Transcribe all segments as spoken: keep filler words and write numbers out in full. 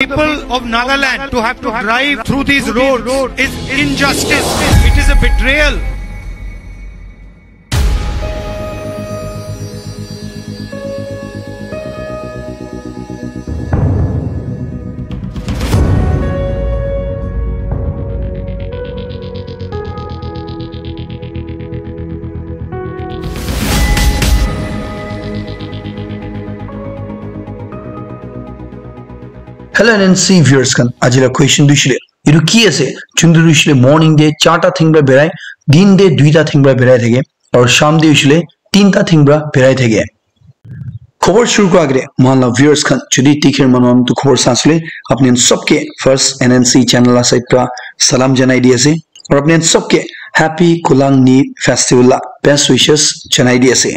people of Nagaland to have to drive through these roads is injustice. It is a betrayal. Hello N N C viewers khan, aji la question tu hoishe le, etu ki ase? Chundu tu hoishe le morning te charta thing pra berai, din te duita thing pra berai thake, aru sham te hoishe le tinta thing pra berai thake. Khobor shuru kura agete, mohan la viewers khan, jodi tikhir manu khan tu khobor sa asile, apni khan sobke first N N C channel la side pra salam janai di ase. Aru apni khan sobke happy Kulang Ni festival la best wishes janai di ase.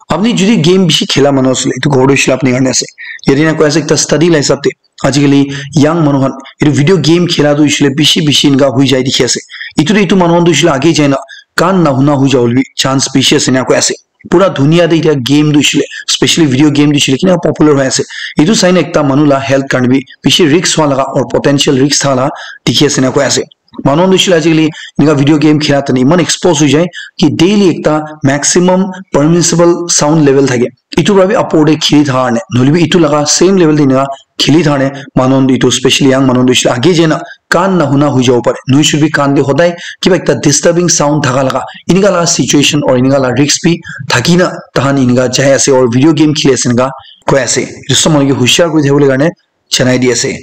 Apni jodi game bishi khela manu asile, etu khobor tu hoishe le apni karne ase. Yate na koi ase ekta study la hisab te, ajikali young manu khan etu video game khela tu hoishe le bishi bishi enka hoi jai dikhi ase. Etu tu etu manu khan tu hoishe le age jai na kan na huna hoi jabo le bi chance bishi ase ena koi ase. Pura dunia te etia game tu hoishe le, specially video game tu hoishe le kina popular hoi ase. Etu sai na ekta manu la health karne bi bishi risk hua laga or potential risk thala dikhi ase ena koi ase. Manu khan tu hoishe le ajikali enika video game khela tani eman expose hoi jai ki daily ekta maximum permissible sound level thake. Etu pra bi upor te kheli thaka karne, nohole bi etu laga same level te enika kheli thaka karne manu khan tu etu specially young manu khan tu hoishe le age jai na kan na huna hoi jabo pare. Nohoi shud bi kan te hodai kiba ekta disturbing sound thaka laga enika laga situation or enika laga risk bi thaki na tahan enika jai ase or video game kheli ase enika koi ase. Etu sob manu ke hushiar kuri thakibole karne janai di ase.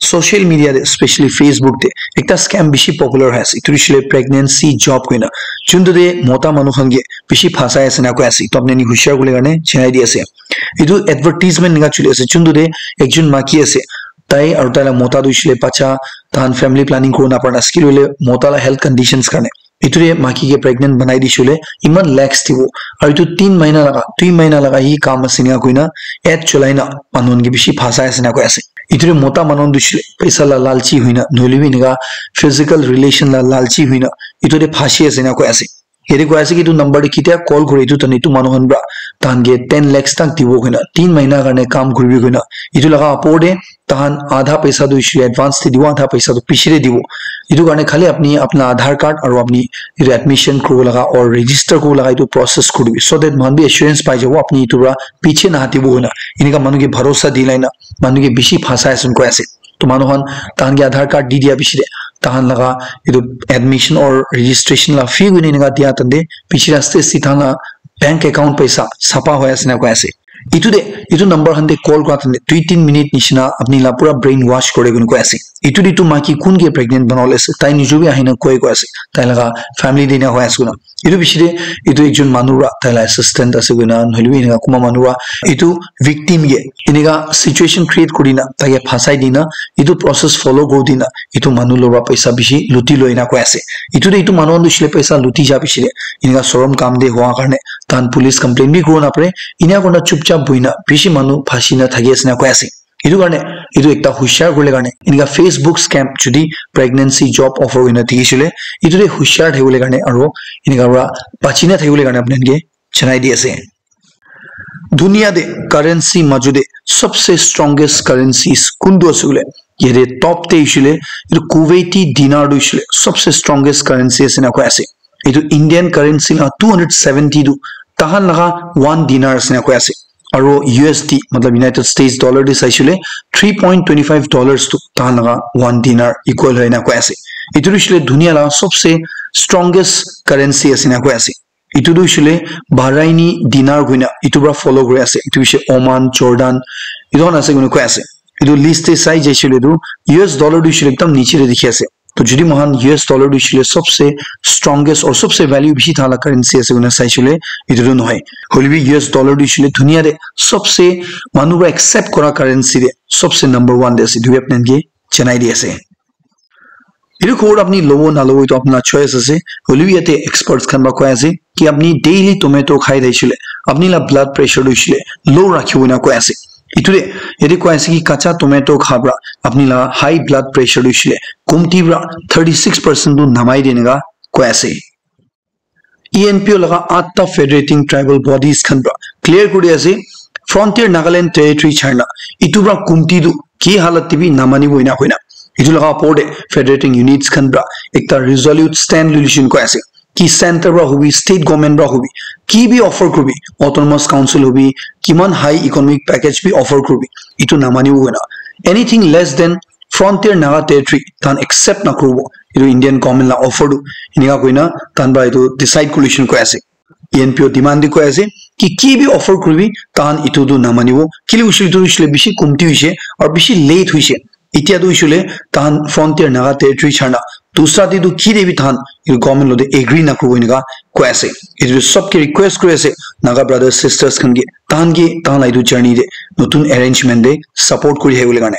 Social media te, specially Facebook te ekta scam bishi popular hoi ase. Etu hoishe le pregnancy job koina. Chundu te mota manu khan ke bishi phasai ase na koi ase. Etu apni khan ke hushiar kuribole karne janai di ase. Etu advertisement enika choli ase. Chundu te ekjon maki ase. Tai aru tai la mota tu hoishe le bacha, tahan family planning kuri na para na skill hoile mota la health conditions karne. Etu te maki ke pregnant banai dishe koile eman lakhs dibo. Aru etu tin mahina laga, dui mahina laga hi kam ase ena koina ad cholai na manu khan ke bishi phasai ase ena koi ase. Etu te mota manu khan tu hoishe le paisa la lalchi hoina nohole bi enika physical relation la lalchi hoina etu te phasi ase ena koi ase. Yate koi ase ki etu number te ketia call kure etu tani etu manu khan pra tahan ke ten lakhs tak dibo koina tin mahina karne kam kuribi koina etu laga upor te tahan adha paisa tu hoishe le advance te dibo, adha paisa tu piche te dibo. Etu karne khali apni apna Aadhaar card aru apni etu admission kuribo laga or register kuribo laga etu process kuri dibi, so that moikhan bi assurance pai jabo apni etu pra piche na hatibo koina. Enika manu ke bharosa dilai na manu ke bishi phasai ase koi ase. To manu khan tahan ke Aadhaar card di dia piche te tahan laga etu admission or registration la fee koina enika dia tante piche te aste aste tahan la bank account paisa sapa hoi ase na koi ase. Etu te, etu number khan te call kura time te dui tin minute nishina apni la pura brain wash kore koina koi ase. Etu te etu maiki kun ke pregnant banabole ase, tai nijor bi ahina koi koi ase, tai laga family te ena hoi ase koina. Etu piche te etu ekjon manu pra tai la assistant ase koina, nohole bi enika kunba manu pra etu victim ke enika situation create kuri na tai ke phasai dina, etu process follow kuri dina, etu manu logot pra paisa bishi luti loi na koi ase. Etu te etu manu khan tu hoishe le paisa luti ja piche te enika sorom kam te hua karne tahan police complaint bi kuribo napare. Ena kurina chupchap buhina bishi manu phasi na thaki ase na koi ase. Etu karne etu ekta hushiar kuribole karne enika Facebook scam jodi pregnancy job offer hoina dikhi shey le etu te hushiar thakibole karne aro enika para bachi na thakibole karne apni khan ke janai di ase. Dunia te currency maju te sabse strongest currencies kuntu ase koile, yate top te hoishe le etu Kuwaiti dinar tu hoishe le sabse strongest currency ase na koi ase. Etu Indian currency la two hundred seventy tu tahan laga one dinar ase na koi ase. Aro U S D, matlab United States dollar te saishe le three point twenty five dollars tu tahan laga one dinar equal hoi na koi ase. Etu tu hoishe le dunia la sabse strongest currency ase na koi ase. Etu tu hoishe le Bahraini dinar koina etu para follow kuri ase. Etu hoishe Oman, Jordan, etu khan ase koina koi ase. Etu list te sai jaishe le tu U S dollar tu hoishe le ekdam niche te dikhi ase. To jodi moikhan U S dollar tu hoishe le sabse strongest or sabse value bishi thala currency ase koina saishe le etu tu nohoi. Hoile bi U S dollar tu hoishe le dunia te sabse manu para accept kora currency te sabse number one te ase. Etu bi apni khan ke janai di ase. Etu khobor apni lobo nalobo etu apna choice ase. Hoilebi yate experts khan para koi ase ki apni daily tomato khai thakishe le apni la blood pressure tu hoishe le low rakhibo na koi ase. Etu te yate koi ase ki kacha tomato kha para apni la high blood pressure tu hoishe le komti para thirty six percent tu namai de eneka koi ase. E N P O laga atta federating tribal bodies khan para clear kuri ase, Frontier Nagaland Territory China, itu pra kumti tu ki halat te bi namanibo ena koina. Itu laga opor te federating units khan pra ekta resolute stand loi luishin koi ase. Ki center pra hobi, state government pra hobi, ki bi offer kuribi, autonomous council hobi, kiman high economic package bi offer kuribi, itu namanibo koina. Anything less than Frontier Naga Territory tahan accept nakuribo. Itu Indian government la offer tu. Enika koina tahan pra itu decide kuri luishin koi ase. E N P O demand di koi ase ki ki bi offer kuribi tahan itu tu namanibo. Kile hoishe itu hoishe bishi kumti hoishe aru bishi late hoishe. Itya tu hoishe tahan Frontier Naga Territory chana dusra te tu ki de bi tahan itu government lo de agree nakuribo enika koi ase. Itu sob ke request kuri ase Naga brothers sisters khan ke tahan ke tahan la itu journey de notun arrangement de support kuri hai bole karne.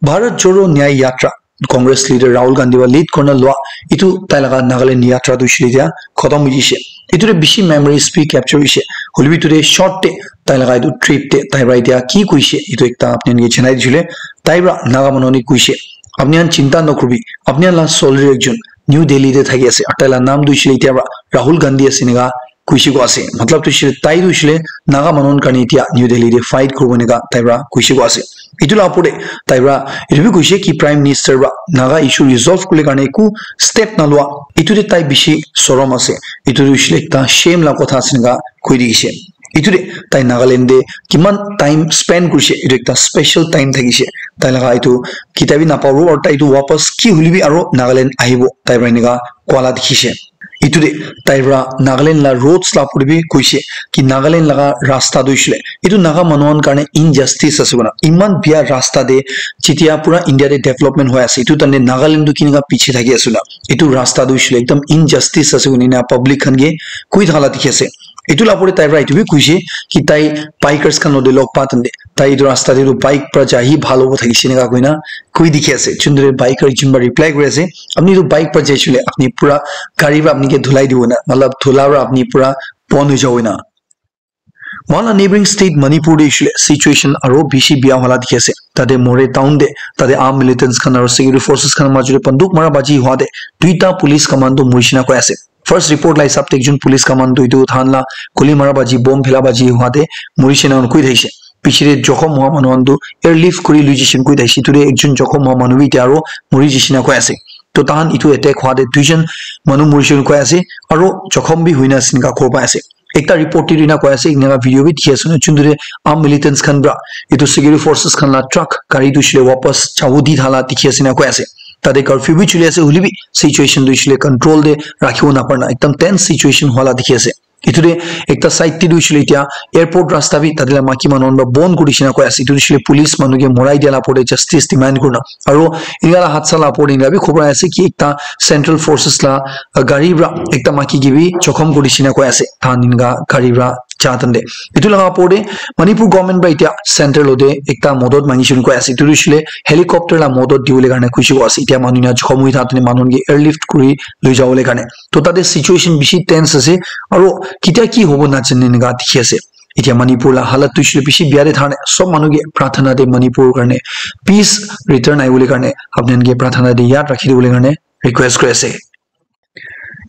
Bharat Jodo Nyay Yatra, Congress leader Rahul Gandhi wa lead kurna lua, itu tai laga Nagaland yatra tu hoishe dia khotom hoishe. Itu de bishi memories bi capture hoishe. Hoilebi itu de short te tai laga itu trip te tai pra itia ki koishe, itu ekta apni khan ke janai dishile, tai pra Naga manu khan ke koishe, "Apni khan chinta nakuribi, apni khan la soldier ekjon New Delhi te thaki ase, aru tai la naam tu hoishe itia pra Rahul Gandhi ase," enika koishe koi ase. Matlab tu hoishe tai tu hoishe Naga manu khan karne itia New Delhi te fight kuribo enika tai pra koishe koi ase. Itu la opor te tai pra itu bi koishe ki Prime Minister pra Naga issue resolve kuribole karne eku step nalua. Itu te tai bishi sorom ase. Itu tu hoishe ekta shame la kotha ase enika koi dikhishe. Itu te tai Nagaland te kiman time spend kurishe, itu ekta special time thakishe. Tai laga itu kita bi napabo aru tai itu wapas ki hoilebi aru Nagaland ahibo tai pra enika koa la dikhishe. Itu de tai pra Nagaland la roads la opor te bi koishe ki Nagaland laga rasta tu hoishe itu Naga manu khan karne injustice ase koina. Iman bia rasta de jitia pura India de development hoi ase, itu time te Nagaland tu kinika piche thaki ase na. Itu rasta tu hoishe ekdam injustice ase koina public khan ke koi thaka la dikhi ase. Itu la opor te tai pra itu bi koishe ki tai bikers khan lo de log pa time te tai itu rasta te tu bike pra jai hi bhal hobo thakishe enika koina koi dikhi ase. Chundre biker ekjon pra reply kuri ase, "Apni tu bike pra jaishe hoile apni pura gari pra apni ke dhulai dibo na, matlab dhula pra apni pura bon hoi jabo na." Mohan la neighboring state Manipur te hoishe situation aro bishi bia hola dikhi ase. Tate Moreh town te, tate armed militants khan aro security forces khan major te banduk mara baji hua te duita police commando murishina koi ase. First report la hisab te ekjon police commando itu than la guli mara baji, bomb phela baji hua te murishina koi thaishe. Piche te jokhom hua manu khan tu airlift kuri lui jishin koi thaishe. Itu te ekjon jokhom hua manu bi itya aro muri jishina koi ase. To tahan itu attack hua te duijon manu murishina koi ase aro jokhom bi huina ase enika khobor pai ase. Ekta report te ena koi ase, eneka video bi dikhi ase na, juntu te armed militants khan pra etu security forces khan la truck gari tu hoishe le wapas jabo di thala dikhi ase na koi ase. Tate curfew bi chuli ase, hoile bi situation tu hoishe le control te rakhibo naparna, ekdam tense situation hwala dikhi ase. Etu te ekta side te tu hoishe le etia airport rasta bi tate la maki manu khan pra bon kuri dishina koi ase. Etu tu hoishe le police manu ke morai dia la opor te justice demand kurina. Aro eneka la hadsa la opor te eneka bi khobor ahi ase ki ekta central forces la, uh, gari pra ekta maki ke bi jokhom kuri dishina koi ase. Tahan eneka gari pra ja tante. Etu laga opor te Manipur government pra etia center lo te ekta modot mangishe koi ase. Etu tu hoishe le helicopter la modot dibole karne kuishe koi ase. Etia manu ena jokhom hoi thakte manu khan ke airlift kuri loi jabole karne. To tate situation bishi tense ase. Aro ketia ki hobo najane eneka dikhi ase. Etia Manipur la halat tu hoishe le bishi bia te thane. Sob manu ke prarthana te Manipur karne peace return ahibole karne apni khan ke prarthana te yaad rakhi dibole karne request kuri ase.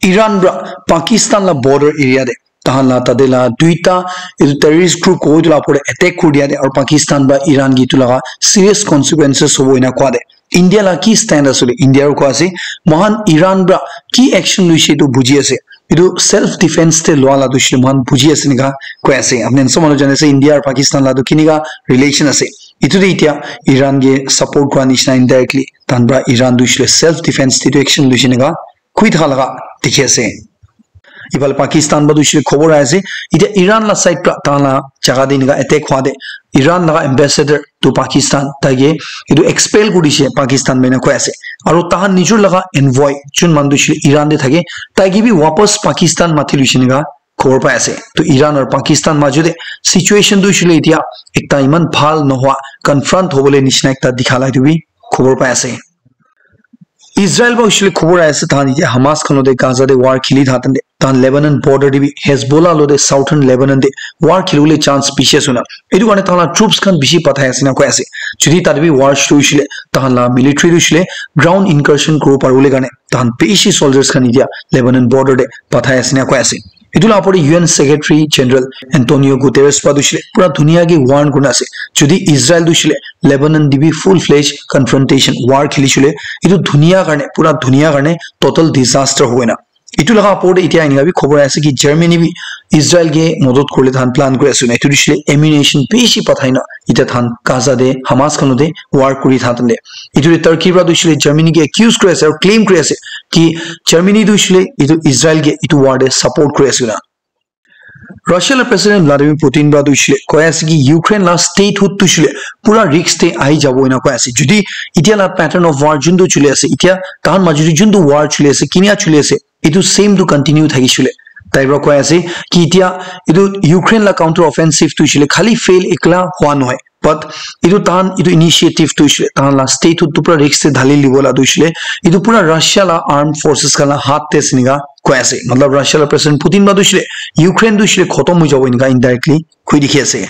Iran pra Pakistan la border area te tahan la tate la duita etu terrorist group ko etu la opor te attack kuri dia te aru Pakistan pra Iran ke etu laga serious consequences hobo ena koa te India la ki stand ase le India ro koa ase mohan Iran pra ki action luishe etu buji ase etu self defense te lua la tu hoishe le mohan buji ase eneka koi ase apni khan sob manu jane ase India aru Pakistan la tu kineka relation ase etu te etia Iran ke support kura nishina indirectly tahan pra Iran tu hoishe le self defense te etu action luishe eneka koi thaka laga dikhi ase. Iphale Pakistan pra tu hoishe le khobor ahi ase. Etia Iran la side pra tahan la jaga te eneka attack hwa te Iran laga ambassador to Pakistan tai ke etu expel kuri dishe Pakistan pra ena koi ase. Aro tahan nijor laga envoy jun manu tu hoishe le Iran te thake tai ke bi wapas Pakistan mati luishe eneka khobor pai ase. To Iran aru Pakistan majo te situation tu hoishe le etia ekta iman bhal nohoa confront hobole nishina ekta dikha la etu bi khobor pai ase. Israel pra hoishe le khobor ahi ase tahan etia Hamas khan logote Gaza te war kheli thaka time te tahan Lebanon border te bi Hezbollah logote southern Lebanon te war kheli bole chance bishi ase na etu karne tahan la troops khan bishi pathai ase na koi ase jodi tate bi war shuru hoishe le tahan la military tu hoishe le ground incursion kuribo pari bole karne tahan bishi soldiers khan etia Lebanon border te pathai ase na koi ase. Etu la opor te U N Secretary General Antonio Guterres pra tu shile pura dunia ke warn kurina ase. Jodi Israel tu shile Lebanon te bi full fledged confrontation war kheli shile, etu dunia karne, pura dunia karne total disaster hobo na. Etu laga opor te etia enika bi khobor ase ki Germany bi Israel ke modot kuribole tahan plan kuri ase na. Etu tu shile ammunition bishi pathai na etia tahan Gaza te Hamas khan te war kuri thakan te. Etu te Turkey pra tu shile Germany ke accuse kuri ase aru claim kuri ase ki Germany tu shile etu Israel ke etu war te support kuri ase na. Russia la President Vladimir Putin pra tu shile koi ase ki Ukraine la statehood tu shile pura risk te ahi jabo ena koi ase. Jodi etia la pattern of war juntu chuli ase, etia tahan majuri juntu war chuli ase, kinia chuli ase, etu same tu continue thaki shile. Tai pra koi ase ki etia etu Ukraine la counter offensive tu shile khali fail ekla hua nohoi. But etu tahan etu initiative tu shile tahan la statehood tu pura risk te dhali libo la tu shile etu pura Russia la armed forces khan la hath te ase enika koi ase. Matlab Russia la President Putin pra tu shile Ukraine tu shile khotom hoi jabo enika indirectly koi dikhi ase.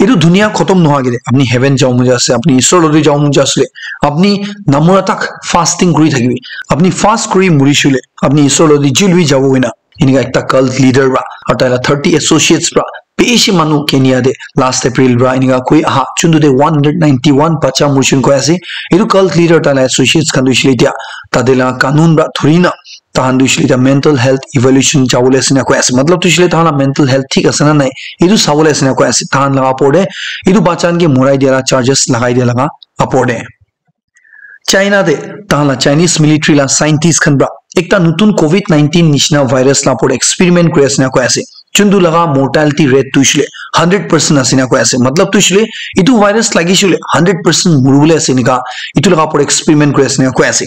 Etu dunia khotom nohoi kene apni heaven jabo mon jai ase, apni Isor lode jabo mon jai ase, apni namura tak fasting kuri thakibi, apni fast kuri muri shile apni Isor lode jil bi jabo hoina enika ekta cult leader pra aru tai la thirty associates pra bishi manu Kenya te last April pra enika koi aha juntu te one hundred ninety one bacha murishon koi ase. Etu cult leader tai la associates khan tu shile etia tate la kanun pra dhuri na tahan tu shile etia mental health evaluation jabole ase na koi ase. Matlab tu shile tahan la mental health thik ase na nai, etu sabole ase na koi ase. Tahan laga opor te etu bacha khan ke morai dia la charges lagai dia laga opor te. China te tahan la Chinese military la scientist khan pra ekta nutun covid nineteen nishina virus la opor te experiment kuri ase na koi ase. Juntu laga mortality rate tu shile hundred percent ase na koi ase. Matlab tu shile etu virus lagi shile hundred percent muribole ase enika etu laga opor experiment kuri ase na koi ase.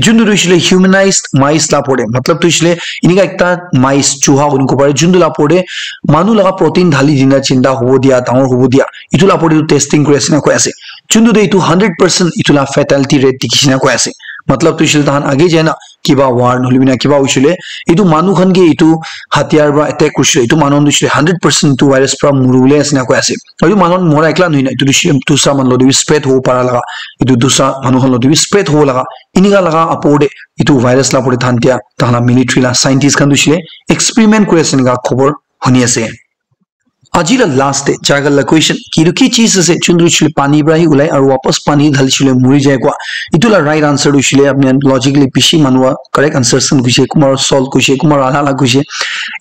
Juntu tu shile humanized mice la opor te, matlab tu shile enika ekta mice chuha koi kene kobo pare juntu la opor te manu laga protein dhali dina jinda hobo dia, dangor hobo dia, etu la opor te tu testing kuri ase na koi ase. Juntu te etu hundred percent etu la fatality rate dikhi ase na koi ase. Matlab tu shile tahan age jai na kiba war nohole bina kiba hoishile etu manu khan ke etu hatiyar pra attack kurishile etu manu khan tu shile hundred percent etu virus pra muribole ase na koi ase. Aru etu manu khan mora ekla nohoi na etu tu shile dusra manu lode bi spread hobo para laga, etu dusra manu khan lode bi spread hobo laga enika laga opor te etu virus la opor te tahan tia tahan la military la scientist khan tu shile experiment kuri ase enika khobor huni ase. Aji la last te jagal la question ki etu ki cheez ase juntu shile pani pra hi ulai aru wapas pani dhali shile muri jai koi. Etu la right answer tu shile apni khan logically bishi manu wa correct answers khan kuishe, kumba salt kuishe, kumba alak alak kuishe.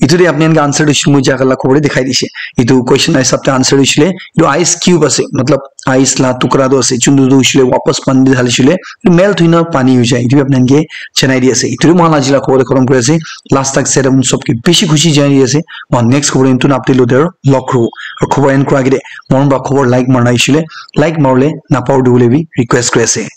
Etu te apni khan ke answer tu shile moi jagal la khobor te dikhai dishe. Etu question la hisab te answer tu shile etu ice cube ase, matlab ice la tukra tu ase juntu tu shile wapas pani dhali shile etu melt hoi na pani hoi jai. Etu apni khan ke janai di ase. Etu moi khan aji la khobor te khotom kuri ase. Last tak setup sob ke bishi khushi janai di ase. Moi next khobor etu na update lo der log ro. Aru khobor end kura age te moi khan pra khobor like marna hoishile like maribole napahori dibole bi request kuri ase.